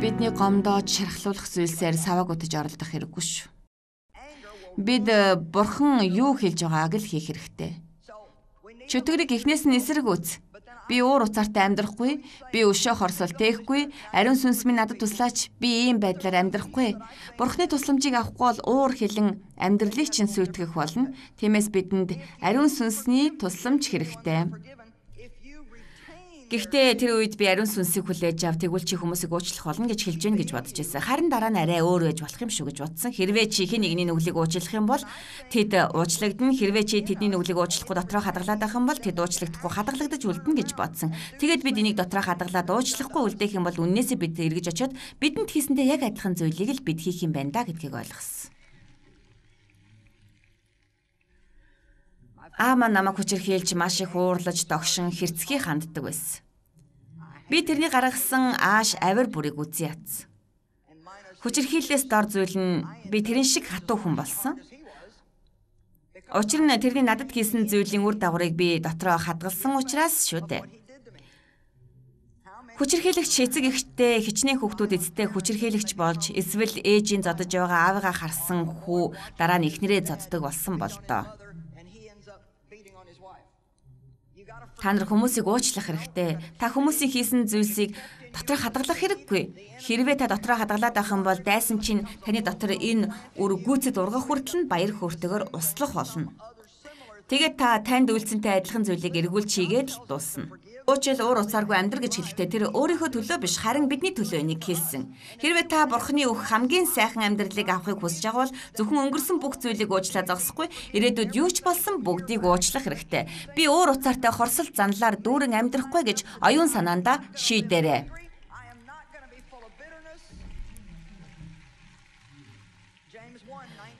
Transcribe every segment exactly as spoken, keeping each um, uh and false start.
Бидний гомдоод шархлуулах зүйлсээр саваг утаж оролдох хэрэггүй шүү. Бид бурхан юу хэлж байгааг л хийх хэрэгтэй. Чөтгөрийг эхнээс нь эсрэг үз. Би уур уцаартай амьдрахгүй, би өшөө хорсол тээхгүй, ариун сүнс минь надад туслаач, би ийм байдлаар амьдрахгүй. Бурхны тусламжийг авахгүй бол уур хилэн амьдралыг чинь сүйтгэх болно. Тиймээс бидэнд ариун сүнсний тусламж хэрэгтэй. Гэхдээ тэр үед би ариун сүнсийг хүлээж ав, тэгвэл чи хүмүүсийг уучлах болно гэж хэлж гэн гэж бодож байсан. Харин дараа нь арай өөр байж болох юм шүү гэж бодсон. Хэрвээ чи хэн нэгний нүглийг уучлах юм бол тэд уучлагдана. Хэрвээ чи тэдний нүглийг уучлахгүй дотроо хадгалаад байх юм бол тэд уучлагдахгүй хадгалагдаж үлдэнэ гэж бодсон. Тэгээд бид энийг дотроо хадгалаад уучлахгүй үлдээх юм бол үннээсээ бид эргэж очиод бидэнд хийсэндээ яг адилхан зүйлийг л бид хийх юм байна да гэдгийг ойлгосон. Аама намайг хүчирхийлж маш их уурлаж, догшин, хэрцгий ханддаг байсан. Би тэрний гаргасан ааш авир бүрийг үзье ятсан. Хүчирхийллээс дор зүйл нь би тэрэн шиг хатуу хүн болсон. Учир нь тэрний надад хийсэн зүйлийн үр дагаврыг би дотроо хадгалсан учраас шүү дээ. Хүчирхийлэгч эцэг эхтэй хичнээн хүүхдүүд эцтэй хүчирхийлэгч болж эсвэл ээжийн зодож байгаа аавыгаа харсан хүү дараа нь эхнэрээ зоддог болсон бол доо. Та нар хүмүүсийг уучлах хэрэгтэй. Та хүмүүсийн хийсэн зүйлсийг дотроо хадгалах хэрэггүй. Хэрвээ та дотроо хадгалаад байх юм бол дайсан чинь таны дотор энэ үр гүйцэд ургах хүртэл нь баяр хөөртэйгээр услах болно. Тэгээд та танд үйлцэнтэй адилхан зүйлийг эргүүлж хийгээд л дуусна. Уучил уур уцааргүй амьдр гэж хэлэхдээ тэр өөрийнхөө төлөө биш харин бидний төлөө энийг хэлсэн. Хэрвээ та бурхны өг хамгийн сайхан амьдралыг авахыг хүсэж байгаа бол зөвхөн өнгөрсөн бүх зүйлийг уучлаа зогсохгүй ирээдүйд юу ч болсон бүгдийг уучлах хэрэгтэй. Би уур уцаартай хорсол занлаар дүүрэн амьдрахгүй гэж оюун санаандаа шийдээрэй.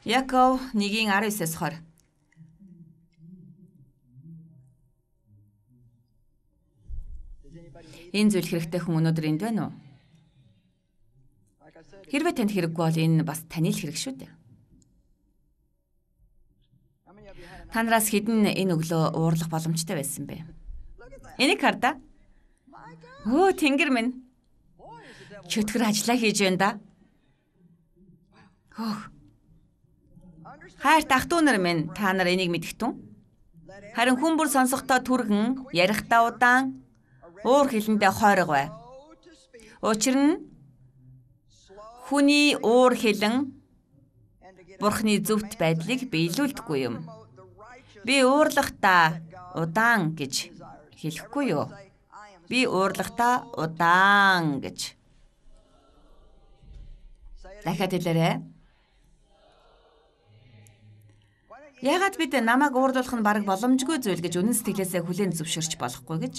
Яков нэгin аравнаас хор. Энэ зүйл хэрэгтэй хүн өнөөдөр энд байна уу? Хэрвээ танд хэрэггүй бол энэ бас таны л хэрэг шүү дээ. Та нараас хэдэн энэ өглөө уурлах боломжтой байсан бэ? Энийг хар да. Өө тэнгэр минь. Чөтгөр ажиллаа хийж байна да. Хөөх. Хайрт ах トゥ нар минь та нар энийг мэдгтэн. Харин хүн бүр сонсохдоо түргэн, ярихдаа удаан уур хилэндээ хойрог бай. Учир нь хүний уур хилэн бурхны зөвхт байдлыг биелүүлдэггүй юм. Би уурлахдаа удаан гэж хэлэхгүй юу? Би уурлахдаа удаан гэж. Дахиад хэлээрэй. Яагаад бид намайг уурлуулах нь бараг боломжгүй зүйл гэж үнэн сэтгэлээсээ хүлээн зөвшөөрч болохгүй гэж?